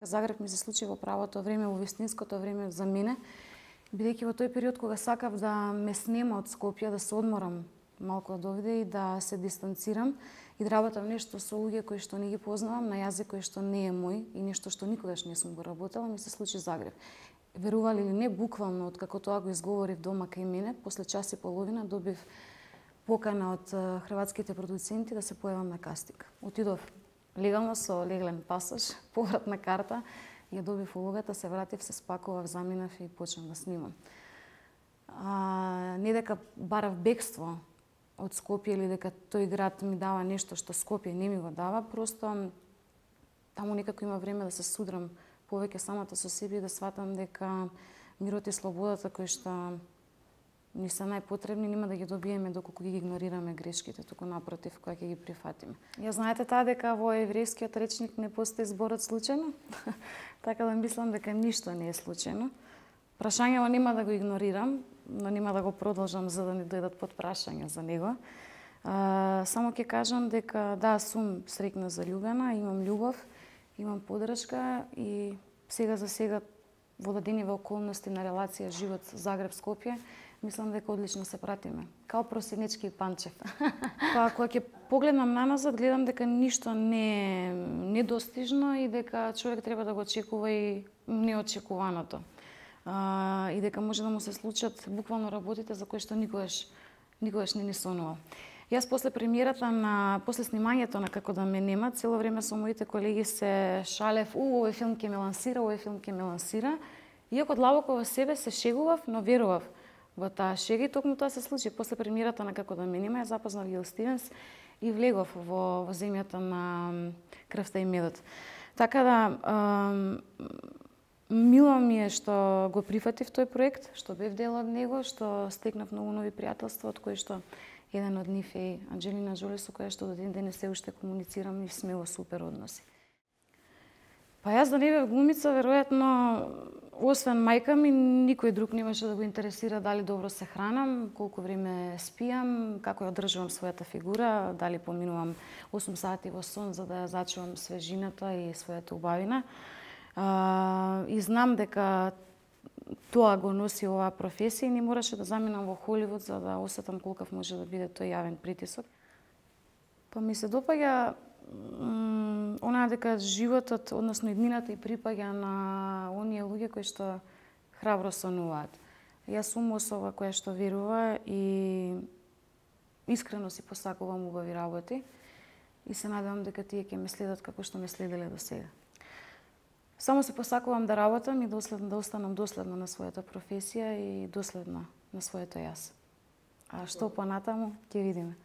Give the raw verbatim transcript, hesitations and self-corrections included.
Загреб ми се случи во правото време, во вистинското време за мене, бидејќи во тој период кога сакав да ме снема од Скопје, да се одморам малку од овде и да се дистанцирам и да работам нешто со луѓе кои што не ги познавам, на јазик кој што не е мој и нешто што никогаш не сум го работела, ми се случи Загреб. Верували или не, буквално од како тоа го изговорив дома кај мене, после час и половина добив покана од хрватските продуценти да се појавам на кастинг. Отидов легално со леглен пасош, повратна карта, ја добив улогата, се вратив, се спакував, заминав и почнав да снимам. А, не дека барав бегство од Скопје или дека тој град ми дава нешто што Скопје не ми го дава, просто таму некако има време да се судрам повеќе самата со себе и да сватам дека мирот и слободата кои што ни се најпотребни, нема да ги добиеме доколку ги игнорираме грешките, туку напротив, кога ќе ги прифатиме. Ја знаете таа дека во еврејскиот речник не постои зборот случајно, така да мислам дека ништо не е случајно. Прашањето нема да го игнорирам, но нема да го продолжам за да не дојдат под прашања за него. А, само ќе кажам дека да, сум среќна заљубена, имам љубов, имам поддршка и сега за сега во дадениве околности на релација живот Загреб-Скопје, мислам дека одлично се пратиме. Као Просенечки и Панчев. Па, кога ќе погледнам наназад, гледам дека ништо не е недостижно и дека човек треба да го очекува и неочекуваното. А, и дека може да му се случат буквално работите за кои што никогаш, никогаш не ни сонувал. Јас после премиерата на после снимањето на Како да ме нема, цело време со моите колеги се шалев, у, овој филм ќе ме лансира, овој филм ќе ме лансира. Иако длабоко во себе се шегував, но верував во таа шега и токму тоа се случи. После премиерата на Како да ме нема, ја запознав Гил Стивенс и влегов во, во земјата на крвта и медот. Така да, мило ми е што го прифатив тој проект, што бев дел од него, што стекнав многу нови пријателства, од кои што еден од нив е Анџелина Джоли, со која што до ден денес се уште комуницирам и сме во супер односи. Па јас да не бев глумица, веројатно, освен мајка ми, никој друг немаше да го интересира дали добро се хранам, колку време спијам, како ја одржувам својата фигура, дали поминувам осум сати во сон за да ја зачувам свежината и својата убавина. А, и знам дека тоа го носи оваа професија и не мораше да заминам во Холивуд за да осетам колкав може да биде тој јавен притисок. Па ми се допаѓа онаа дека животот, односно иднината и припаѓа на оние луѓе кои што храбро сонуваат. Јас сум особа која што верува и искрено си посакувам убави работи и се надевам дека тие ќе ме следат како што ме следеле до сега. Само се посакувам да работам и доследно да останам доследна на својата професија и доследна на своето јас. А што понатаму ќе видиме.